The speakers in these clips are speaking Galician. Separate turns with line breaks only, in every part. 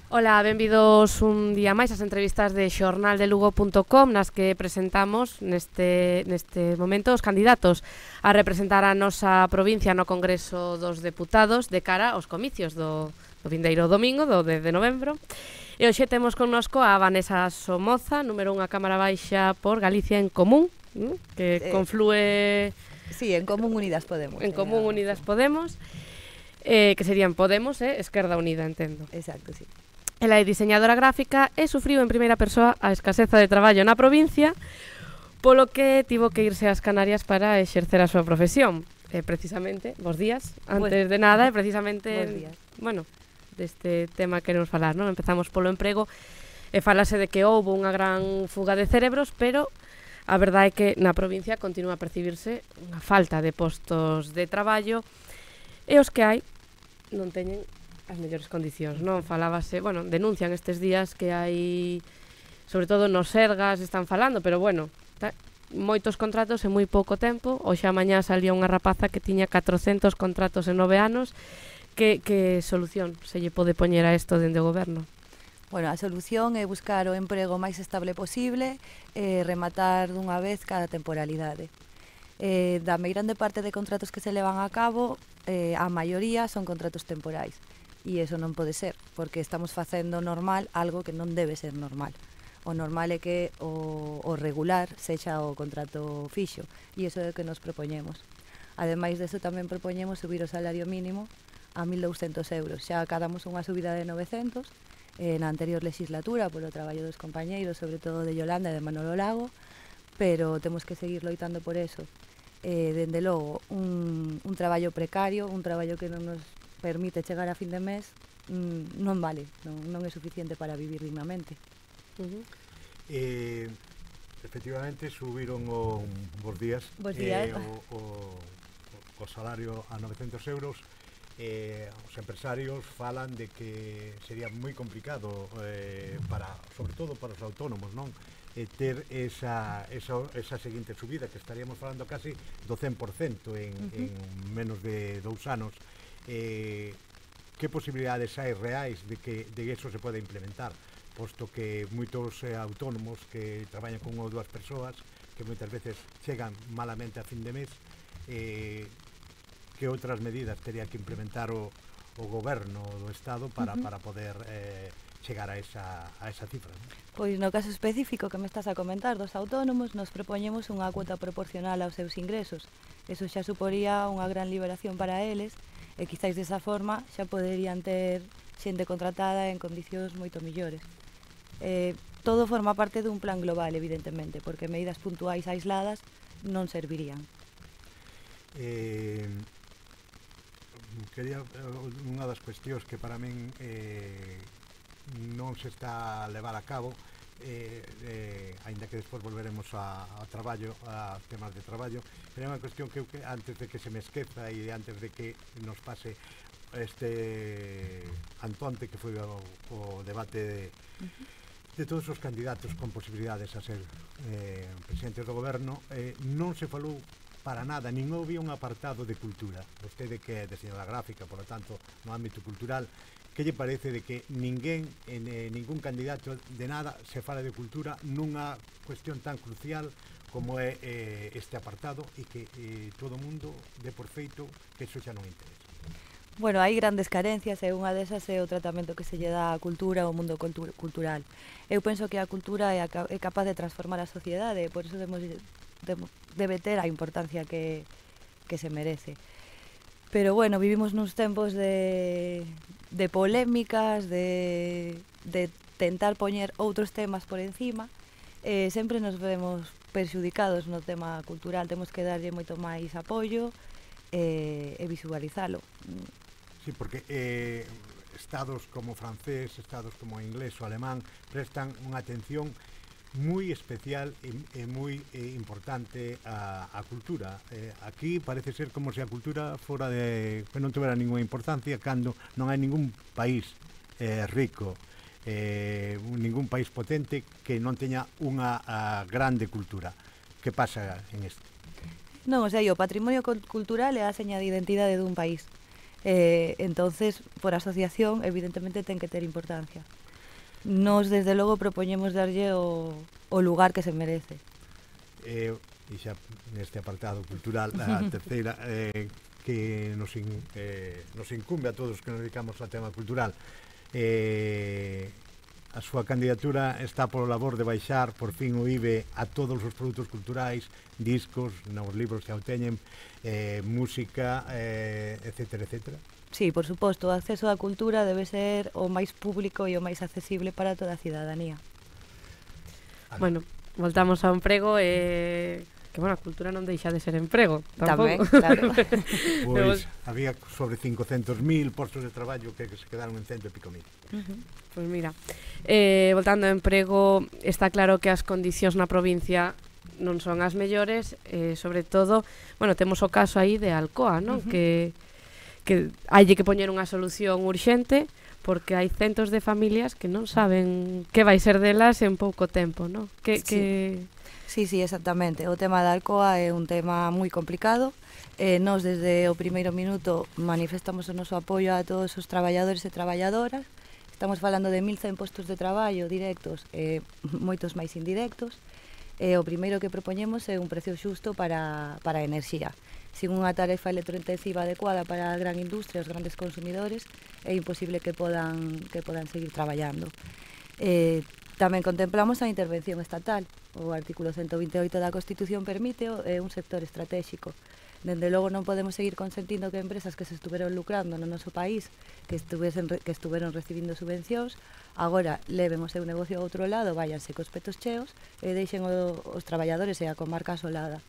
Ola, benvidos un día máis ás entrevistas de xornaldelugo.com nas que presentamos neste momento os candidatos a representar a nosa provincia no Congreso dos Deputados de cara aos comicios do vindeiro domingo, do 10 de novembro. E hoxe temos connosco a Vanessa Somoza, número 1 a Cámara Baixa por Galicia en Común, que conflúe...
Sí, en Común Unidas Podemos.
En Común Unidas Podemos, que serían Podemos e Esquerda Unida, entendo.
Exacto, sí.
Ela é diseñadora gráfica e sufriu en primeira persoa a escaseza de traballo na provincia, polo que tivo que irse ás Canarias para exercer a súa profesión. Precisamente, bos días, antes de nada, precisamente, bueno, deste tema queremos falar, non? Empezamos polo emprego e falase de que houve unha gran fuga de cerebros, pero a verdade é que na provincia continúa a percibirse unha falta de postos de traballo e os que hai non teñen as mellores condicións, non? Falábase, bueno, denuncian estes días que hai, sobre todo nos Sergas están falando, pero bueno, moitos contratos en moi pouco tempo. Hoxe a mañá salía unha rapaza que tiña 400 contratos en 9 anos. Que solución se lle pode poñer a isto dende o goberno?
Bueno, a solución é buscar o emprego máis estable posible e rematar dunha vez cada temporalidade. Da meirande parte de contratos que se levan a cabo, a maioría son contratos temporais. E iso non pode ser, porque estamos facendo normal algo que non debe ser normal. O normal é que o regular sexa o contrato fixo, e iso é o que nos propoñemos. Ademais deso, tamén propoñemos subir o salario mínimo a 1.200 euros. Xa acadamos unha subida de 900 na anterior legislatura polo traballo dos compañeiros, sobre todo de Yolanda e de Manolo Lago, pero temos que seguir loitando por eso. Dende logo, un traballo precario, un traballo que non nos permite chegar a fin de mes, non vale, non é suficiente para vivir dignamente.
Efectivamente, subiron bos días o salario a 900 euros. Os empresarios falan de que sería moi complicado sobre todo para os autónomos, non? Ter esa seguinte subida, que estaríamos falando casi do 100% en menos de 2 anos. Que posibilidades hai reais de que eso se pode implementar, posto que moitos autónomos que traballan con unha ou dúas persoas que moitas veces chegan malamente a fin de mes, que outras medidas tería que implementar o goberno do Estado para poder chegar a esa cifra, non?
Pois no caso específico que me estás a comentar dos autónomos, nos propoñemos unha cuota proporcional aos seus ingresos. Eso xa suporía unha gran liberación para eles, e quizáis desa forma xa poderían ter xente contratada en condicións moito millores. Todo forma parte dun plan global, evidentemente, porque medidas puntuais aisladas non servirían.
Quería unha das cuestións que para min non se está a levar a cabo, aínda que despois volveremos a traballo, a temas de traballo, pero é unha cuestión que antes de que se me esqueza e antes de que nos pase este antonte que foi o debate de todos os candidatos con posibilidades a ser presidentes do goberno, non se falou para nada, nin houve un apartado de cultura. Vostede que é diseñadora gráfica, por lo tanto, no ámbito cultural, que lle parece de que ningún candidato de nada se fala de cultura nunha cuestión tan crucial como é este apartado, e que todo o mundo dé por feito que eso xa non interesa?
Bueno, hai grandes carencias e unha desas é o tratamento que se lle dá á cultura ao mundo cultural. Eu penso que a cultura é capaz de transformar a sociedade, e por iso debe ter a importancia que se merece. Pero bueno, vivimos nuns tempos de polémicas, de tentar poñer outros temas por encima, sempre nos vemos perxudicados no tema cultural. Temos que darlle moito máis apoio e visualizalo.
Sí, porque estados como francés, estados como inglés ou alemán prestan unha atención moi especial e moi importante a cultura. Aquí parece ser como se a cultura fora que non tivera ninguna importancia, cando non hai ningún país rico, ningún país potente que non teña unha grande cultura. Que pasa en isto?
Non, o sea, o patrimonio cultural é a seña de identidade dun país. Entonces, por asociación, evidentemente ten que ter importancia. Nos, desde logo, propoñemos darlle o lugar que se merece.
E xa neste apartado cultural, a terceira, que nos incumbe a todos que nos dedicamos ao tema cultural, a súa candidatura está polo labor de baixar por fin o IBE a todos os produtos culturais, discos, novos libros que o teñen, música, etcétera, etcétera.
Sí, por suposto, o acceso á cultura debe ser o máis público e o máis accesible para toda a cidadanía.
Bueno, voltamos ao emprego e... que, bueno, a cultura non deixa de ser emprego,
Tamén,
tampouco.
claro.
Pois había sobre 500.000 postos de traballo que se quedaron en 100 e pico mil.
Pois mira, voltando ao emprego, está claro que as condicións na provincia non son as mellores, sobre todo, bueno, temos o caso aí de Alcoa, non? Que hai que poñer unha solución urxente, porque hai centos de familias que non saben que vai ser delas en pouco tempo, non?
Sí, exactamente. O tema da Alcoa é un tema moi complicado. Nós, desde o primeiro minuto, manifestamos o noso apoio a todos os traballadores e traballadoras. Estamos falando de 1.100 postos de traballo directos e moitos máis indirectos. O primeiro que propoñemos é un precio xusto para a enerxía. Sin unha tarefa electrointensiva adecuada para a gran industria, os grandes consumidores, é imposible que podan seguir traballando. Tamén contemplamos a intervención estatal. O artículo 128 da Constitución permite, é un sector estratégico. Dende logo non podemos seguir consentindo que empresas que se estuveron lucrando no noso país, que estuveron recibindo subvencións, agora leven o seu negocio a outro lado, váyanse cos petos cheos e deixen os traballadores e a comarca asolada.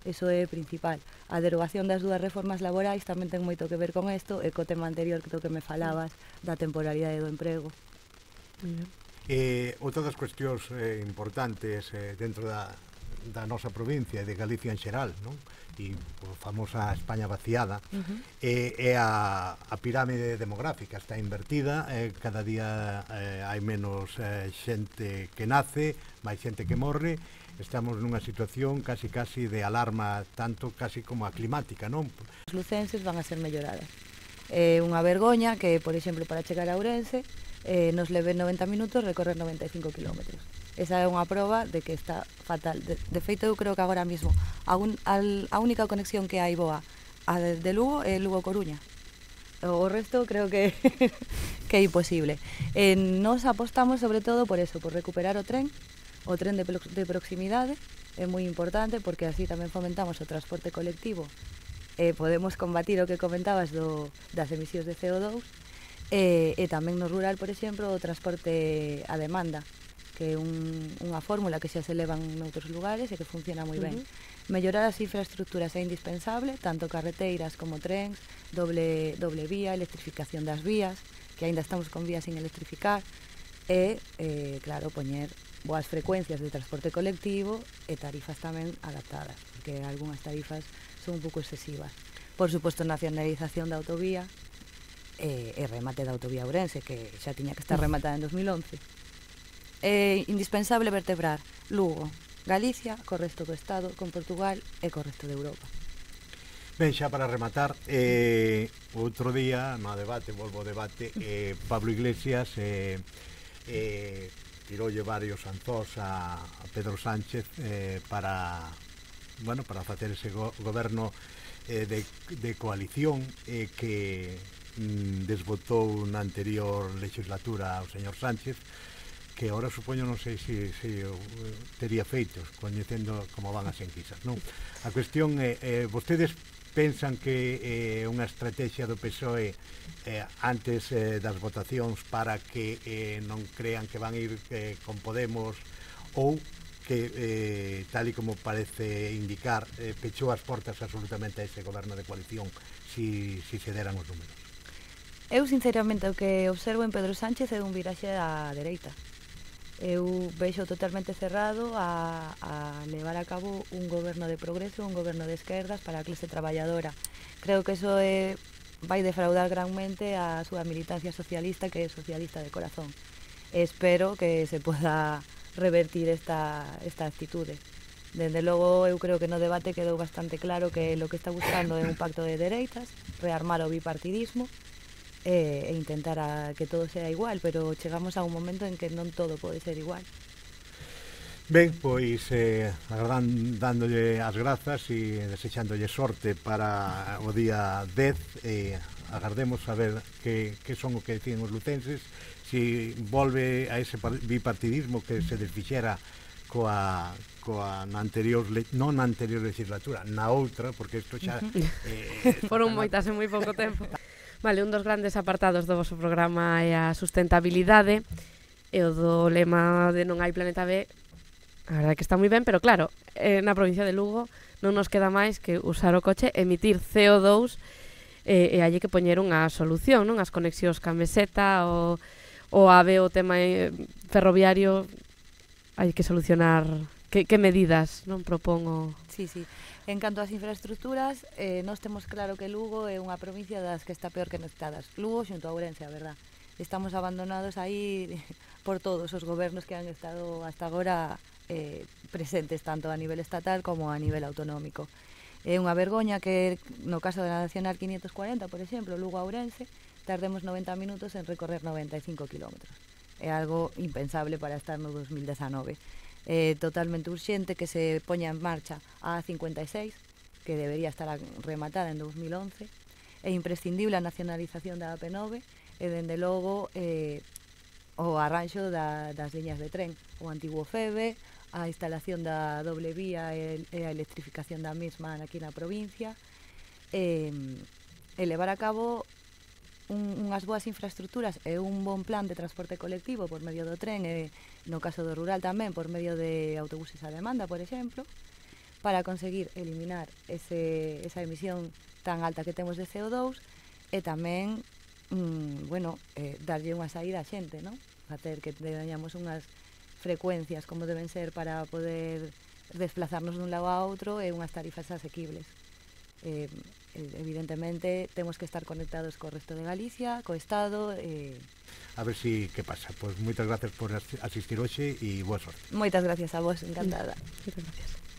Iso é principal. A derogación das dúas reformas laborais tamén ten moito que ver con isto e co tema anterior do que me falabas da temporalidade do emprego.
Outra das cuestións importantes dentro da nosa provincia e de Galicia en xeral, non? E a famosa España vaciada, é a pirámide demográfica, está invertida, cada día hai menos xente que nace, máis xente que morre, estamos nunha situación casi de alarma, tanto casi como a climática, non?
Os lucenses van a ser melloradas. É unha vergoña que, por exemplo, para chegar a Ourense, nos leve 90 minutos recorrer 95 kilómetros. Esa é unha proba de que está fatal. De feito, eu creo que agora mesmo a única conexión que hai boa de Lugo é Lugo-Coruña. O resto creo que é imposible. Nos apostamos sobre todo por eso, por recuperar o tren de proximidade. É moi importante porque así tamén fomentamos o transporte colectivo. Podemos combatir o que comentabas das emisións de CO2 e tamén no rural, por exemplo, o transporte a demanda, que é unha fórmula que xa se levan noutros lugares e que funciona moi ben. Mellorar as infraestructuras é indispensable, tanto carreteiras como trens, doble vía, electrificación das vías, que aínda estamos con vías sin electrificar, e, claro, poñer boas frecuencias de transporte colectivo e tarifas tamén adaptadas, porque algunhas tarifas son un pouco excesivas. Por suposto, nacionalización da autovía e remate da autovía Ourense, que xa tiña que estar rematada en 2011. É indispensable vertebrar Lugo, Galicia, co resto do Estado, con Portugal e co resto de Europa.
Ben, xa para rematar, outro día no debate, volvo ao debate, Pablo Iglesias tiroulle varios anzós a Pedro Sánchez para facer ese goberno de coalición que desbotou na anterior legislatura ao señor Sánchez, que ahora supoño non sei se tería feitos, coñecendo como van as enquisas, non? A cuestión é, vostedes pensan que é unha estrategia do PSOE antes das votacións para que non crean que van ir con Podemos, ou que, tal e como parece indicar, pechou as portas absolutamente a ese goberno de coalición si se deran os números?
Eu, sinceramente, o que observo en Pedro Sánchez é un viraxe á dereita. Eu vexo totalmente cerrado a levar a cabo un goberno de progreso, un goberno de esquerdas para a clase traballadora. Creo que eso vai defraudar granmente a súa militancia socialista, que é socialista de corazón. Espero que se poda revertir esta actitude. Dende logo, eu creo que no debate quedou bastante claro que lo que está buscando é un pacto de dereitas, rearmar o bipartidismo e intentar que todo sea igual, pero chegamos a un momento en que non todo pode ser igual.
Ben, pois dándolle as grazas e desexándolle sorte para o día 10 e agardemos a ver que son o que deciden os lucenses, si volve a ese bipartidismo que se desfixera na anterior non na anterior legislatura, na outra, porque isto xa
foron moitas en moi pouco tempo. Vale, un dos grandes apartados do vosso programa é a sustentabilidade e o do lema de non hai planeta B. A verdade que está moi ben, pero claro, na provincia de Lugo non nos queda máis que usar o coche, emitir CO2 e hai que poñer unha solución, non? As conexións ca meseta, o AVE, o tema ferroviario, hai que solucionar. Que medidas non propongo?
Sí. En canto ás infraestructuras, nós temos claro que Lugo é unha provincia das que está peor conectadas. Lugo xunto a Ourense, a verdad. Estamos abandonados aí por todos os gobernos que han estado hasta agora presentes, tanto a nivel estatal como a nivel autonómico. É unha vergoña que, no caso da Nacional 540, por exemplo, Lugo a Ourense, tardemos 90 minutos en recorrer 95 kilómetros. É algo impensable para estar no 2019. Totalmente urxente que se poña en marcha a A56, que debería estar rematada en 2011. É imprescindible a nacionalización da AP9 e, dende logo, o arranxo das liñas de tren, o antigo FEBE, a instalación da doble vía e a electrificación da mesma aquí na provincia, e levar a cabo unhas boas infraestructuras e un bon plan de transporte colectivo por medio do tren e, no caso do rural tamén, por medio de autobuses a demanda, por exemplo, para conseguir eliminar esa emisión tan alta que temos de CO2 e tamén darlle unha saída á xente, non? Facer que teñamos unhas frecuencias como deben ser para poder desplazarnos dun lado a outro e unhas tarifas asequibles. Evidentemente temos que estar conectados co resto de Galicia, co Estado.
A ver si que pasa. Pois moitas gracias por asistir hoxe e boa sorte.
Moitas gracias a vos, encantada.
Moitas gracias.